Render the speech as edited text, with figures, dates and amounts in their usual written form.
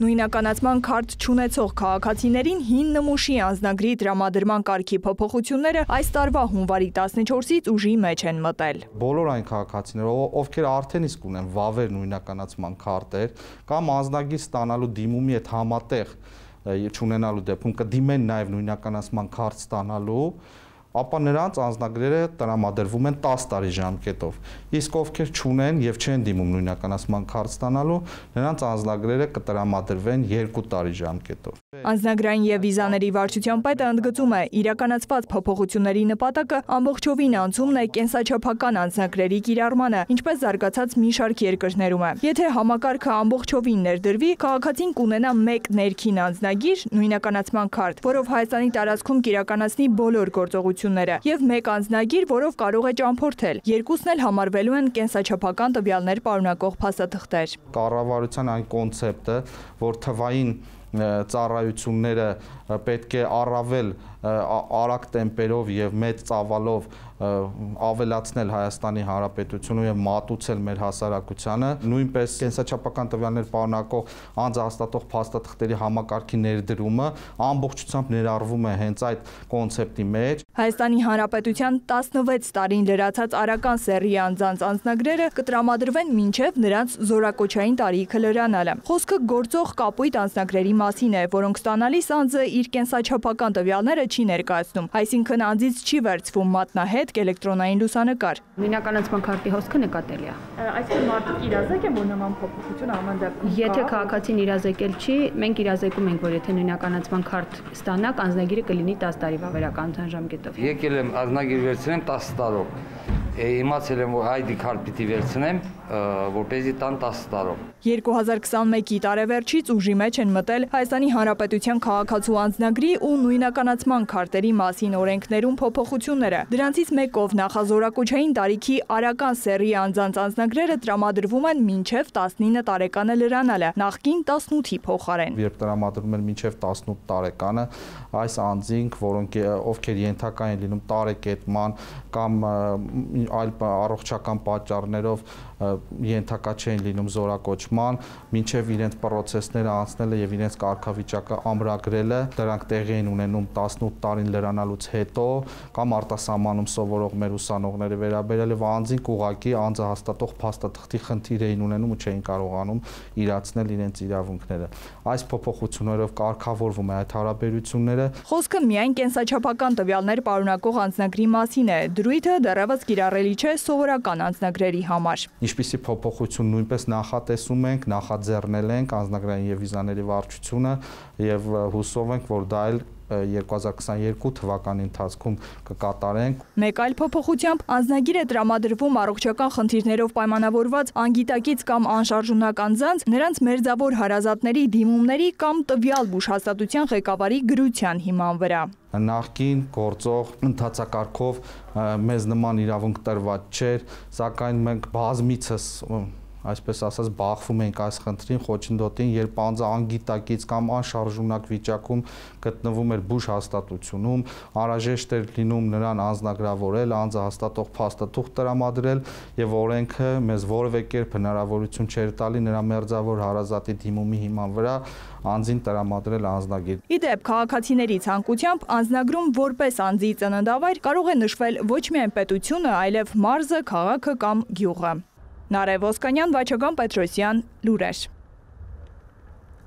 Նույնականացման քարտ չունեցող քաղաքացիներին հին նմուշի անձնագրի տրամադրման կարգի փոփոխությունները այս տարվա հունվարի 14-ից ուժի մեջ են մտել։ Բոլոր այն քաղաքացիները, ովքեր արդեն իսկ ունեն վավեր նույնականացման քարտեր կամ անձնագիր ստանալու դիմումի հետ համատեղ չունենալու դեպքում կդիմեն նաև նույնականացման քարտ ստանալու, ապա նրանց անձնագրերը տրամադրվում են 10 տարի ժամկետով։ Իսկ ովքեր չունեն եւ չեն դիմում նույնականացման քարտ ստանալու, նրանց անձնագրերը կտրամադրվեն 2 տարի ժամկետով։ Անձնագրային եւ վիզաների վարչության պետը ընդգծում է, իրականացված փոփոխությունների նպատակը ամբողջովին անցումն է կենսաչափական անձնագրերի կիրառմանը, ինչպես զարգացած մի շարք երկրներում է։ Եթե համակարգը ամբողջովին ներդրվի, քաղաքացին կունենա մեկ ներքին անձնագիր, նույնականացման քարտ, որով Հայաստանի տարածքում կիրականացնի բոլոր գործողությունները, եւ մեկ անձնագիր, որով կարող է ճամփորդել։ Երկուսն էլ համարվելու են կենսաչափական տվյալներ պարունակող փաստաթղթեր։ Կառավարության այն կոնցեպտը, որ թվային ծառայությունները պետք է առավել արագ տեմպերով եւ մեծ ծավալով ավելացնել Հայաստանի Հանրապետությունը եւ մատուցել մեր հասարակությանը, նույնպես կենսաչափական տվյալներ պարունակող անձահաստատող փաստաթղթերի համակարգի ներդրումը ամբողջությամբ ներառվում է հենց այդ կոնցեպտի մեջ։ Հայաստանի Հանրապետության 16 տարին լրացած արական սեռի անձանց անձնագրերը կտրամադրվեն մինչև նրանց զորակոչային տարիքը լրանալը։ Խոսքը գործող կապույտ անձնագրերի մասին է, որոնք ստանալիս անձը իր կենսաչափական տվյալները չի ներկայացնում, այսինքն անձից չի վերցվում մատնահետք, էլեկտրոնային լուսանկար։ Նույնականացման քարտի հոսքը նկատելի է։ Այսինքն մարդը իրազեկ է, որ նման փոփոխություն ամեն դեպքում։ Եթե քաղաքացին իրազեկել չի, մենք իրազեկում ենք, որ եթե նույնականացման քարտ ստանաք, անձնագիրը կլինի 10 տարի վավերական ժամկետով։ Եկել եմ անձնագիր վերցնեմ 10 տարով։ Իմացել եմ, որ ID քարտ պիտի վերցնեմ, որպեսզի տան 10 տարով։ 2021-ի տարեվերջից ուժի մեջ են մտել Հայաստանի Հանրապետության քաղաքացու անձնագրի ու նույնականացման քարտերի մասին օրենքներում փոփոխությունները։ Դրանցից մեկով նախազորակոչային տարիքի արական սեռի անձանց անձնագրերը տրամադրվում են մինչև 19 տարեկանը լրանալը, նախկին 18-ի փոխարեն։ Երբ տրամադրում են մինչև 18 տարեկանը, այս անձինք, ովքեր ենթակա են լինում տարեկետման կամ այլ առողջական պատճառներով ենթակա չեն լինում զորակոչման, մինչև իրենց պրոցեսները անցնելը եւ իրենց կարգավիճակը ամրագրելը, դրանք տեղի են ունենում 18 տարին լրանալուց հետո կամ արտասահմանում սովորող մեր ուսանողները վերաբերել եւ անձինք ուղղակի անձահաստատող փաստաթղթի խնդիր էին ունենում ու չէին կարողանում իրացնել իրենց իրավունքները։ Այս փոփոխություններով կարգավորվում է այդ հարաբերությունները։ Խոսքը միայն կենսաչափական տվյալներ պարունակող անձնագրի մասին է։ Դրույթը դեռևս կիրառելի չէ սովորական անձնագրերի համար։ Ինչպիսի փոփոխություն նույնպես նախատեսում ենք, նախաձեռնել ենք անձնագրային եւ վիզաների վարչությունը եւ հուսով ենք, որ դա էլ 2022 թվականի ընթացքում կկատարենք։ Մեկ այլ փոփոխությամբ անձնագիր է տրամադրվում առողջական խնդիրներով պայմանավորված անգիտակից կամ անշարժունակ անձանց, նրանց մերձավոր հարազատների դիմումների կամ տվյալ բուժհաստատության ղեկավարի գրության հիման վրա։ Նախկին գործող ընթացակարգով մեզ նման իրավունք տրված չէր, սակայն մենք բազմիցս այսպես ասած բախվում ենք այս խնդրին, խոչընդոտին, երբ անձը անգիտակից կամ անշարժունակ վիճակում գտնվում էր բուժհաստատությունում, անհրաժեշտ էր լինում նրան անձնագրավորել, անձահաստատող փաստաթուղթ տրամադրել եւ օրենքը մեզ որևէ կերպ հնարավորություն չէր տալի նրա մերձավոր հարազատի դիմումի հիման վրա անձին տրամադրել անձնագիր։ Իդեպ քաղաքացիների ցանկությամբ անձնագրում որպես անձի ծննդավայր կարող է նշվել ոչ միայն պետությունը, այլև մարզը, քաղաքը կամ գյուղը։ Նարեկ Ոսկանյան, Վաչագան Պետրոսյան, լուրեր։